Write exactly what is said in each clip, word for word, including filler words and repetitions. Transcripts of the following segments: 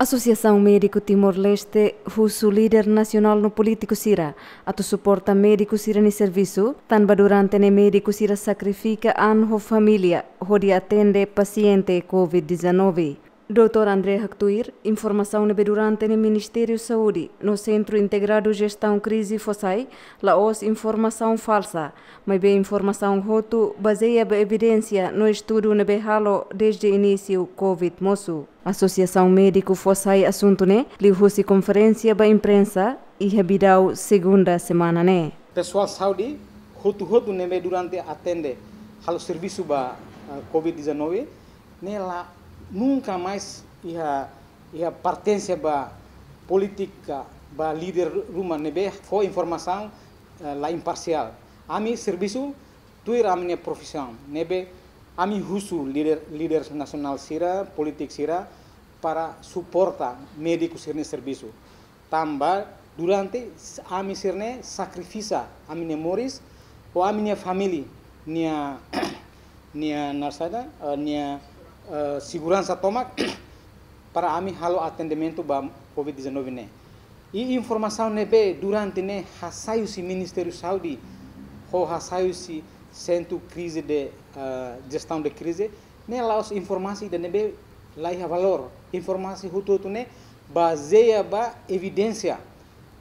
Asosiasaun Médiku Timor-Leste husu líder nasionál no polítiku sira atu suporta médiku sira-nia servisu, tanba durante ne'e médiku sira sakrifika an ho família hodi atende pasiente covid dezanove. Doutór André haktuir, informasaun ne'ebé durante ne'e Ministériu Saúde no Sentru Integradu Jestaun Krize fó sai, la'ós informasaun falsa, maibé informasaun hotu bazeia ba evidénsia no estudu ne'ebé halo dezde inísiu covid mosu. Asosiasaun Médiku fó sai asuntu ne'e liuhusi konferénsia ba imprensa iha Bidau, segunda semana ne'e. Pesoál saúde hotu-hotu ne'ebé durante atende halo servisu ba, eh, covid dezanove, ne'e la nunka mais iha, iha pertense ba polítika, ba líder ruma ne'ebé fó informasaun, eh, la imparsiál. Ami servisu tuir ami-nia profisaun, ne'ebé ami husu líder, líder nasionál sira, polítiku sira, para suporta médiku sira-nia servisu. Tanba durante s-, ami sira-ne'e sakrifika ami-nia moris, ho ami-nia família nia, nia nasaida, eh, nia, eh, seguransa tomak, para ami halo atendimentu ba covid dezanove ne'e. I informasaun ne'ebé durante ne'e hasai husi Ministériu Saúde, ho hasai husi Sentru Krize de, eh, Jestaun de Krize, ne'e la'ós informasaun ida ne'ebé la iha valór. Informasaun hotu-hotu ne'e bazeia ba evidénsia,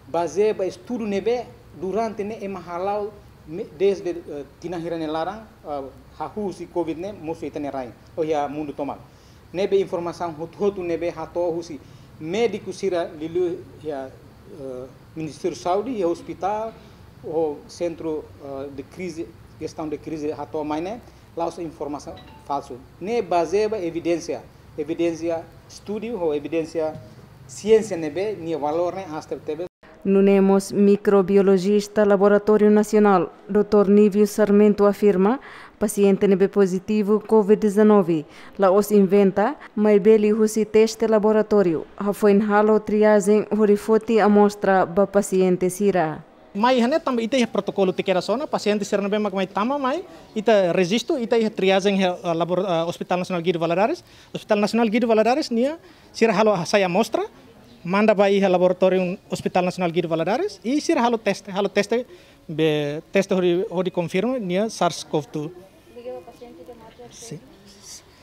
bazeia ba estudu ne'ebé durante ne'e ema hala'o me-, dezde, eh, tinan hira nia laran, eh, hahú husi covid ne'e mosu iha ita-nia rain, ou iha mundu tomak. Ne'ebé informasaun hotu-hotu ne'ebé hato'o husi médiku sira liuliu iha, eh, Ministériu Saúde, iha ospitál, ho Sentru, eh, de Krize, Jestaun de Krize hato'o mai ne'e, la'ós informasaun falsu. Ne'e bazeia ba evidénsia, evidénsia estudu ho evidénsia siénsia ne'ebé nia valór ne'e aas tebetebes. Nune'e mós mikrobiolojista Laboratóriu Nasionál, doutór Nívio Sarmento afirma, pasiente ne'ebé pozitivu covid dezanove la'ós inventa, maibé liuhusi teste laboratóriu hafoin halo triajen hodi foti amostra ba pasiente sira. Mai iha ne'e tanba ita iha protokolu tiha kedas ona, pasiente sira ne'ebé mak mai tama mai, ita rejistu, ita iha triajen iha, eh, labor-, eh, Hospital Nasionál Guido Valadares. Hospital Nasionál Guido Valadares nia, sira halo hasai amostra, manda ba iha laboratóriu Hospital Nasionál Guido Valadares, i sira halo teste, halo teste, be teste hodi, hodi konfirma nia SARS-CoV dua. Sin.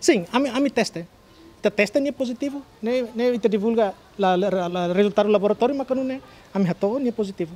Sin, ami, ami teste. Ita teste nia pozitivu, ne'e, ne'e ita divulga la, la, la, la rezultadu laboratóriu maka nune'e ami hato'o nia pozitivu.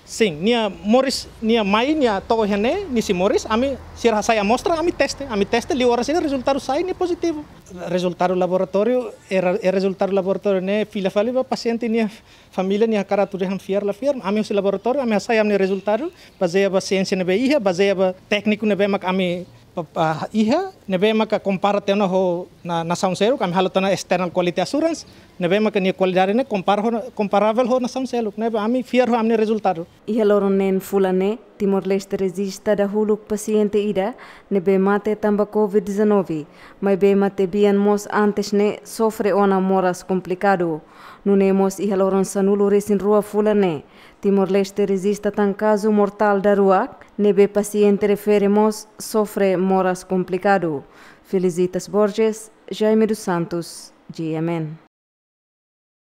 Sin, nia moris, nia mai, nia to'o iha ne'e, nia sei moris, ami sira hasai amostra, ami teste, ami teste, liu oras ida rezultadu sai nia pozitivu. Rezultadu laboratóriu, e re-, e rezultadu laboratóriu ne'e fila fali ba pasiente nia família nia hakarak atu dehan fiar la fiar, ami husi laboratóriu, ami hasai ami-nia rezultadu, bazeia ba siénsia ne'ebé iha, bazeia ba tékniku ne'ebé mak ami pa, pa, iha, ne'ebé maka kompara tiha ona ho na, nasaun seluk, ami halo tiha ona external quality assurance, ne'ebé maka nia kualidade ne'e kompara ho, komparavel ho nasaun seluk, ne'ebé ami fiar ho ami-nia rezultadu. Iha loron neen fulan ne'e, Timor-Leste rejista dahuluk pasiente ida ne'ebé mate tanba covid dezanove, maibé mate bian mós antes ne'e sofre ona moras komplikadu. Nune'e mós iha loron sanulu-resin-rua fulan ne'e, Timor-Leste rejista tan kazu mortál daruak, ne'ebé pasiente refere mós sofre moras komplikadu. Felicitas Borges, Jaime dos Santos, G M N.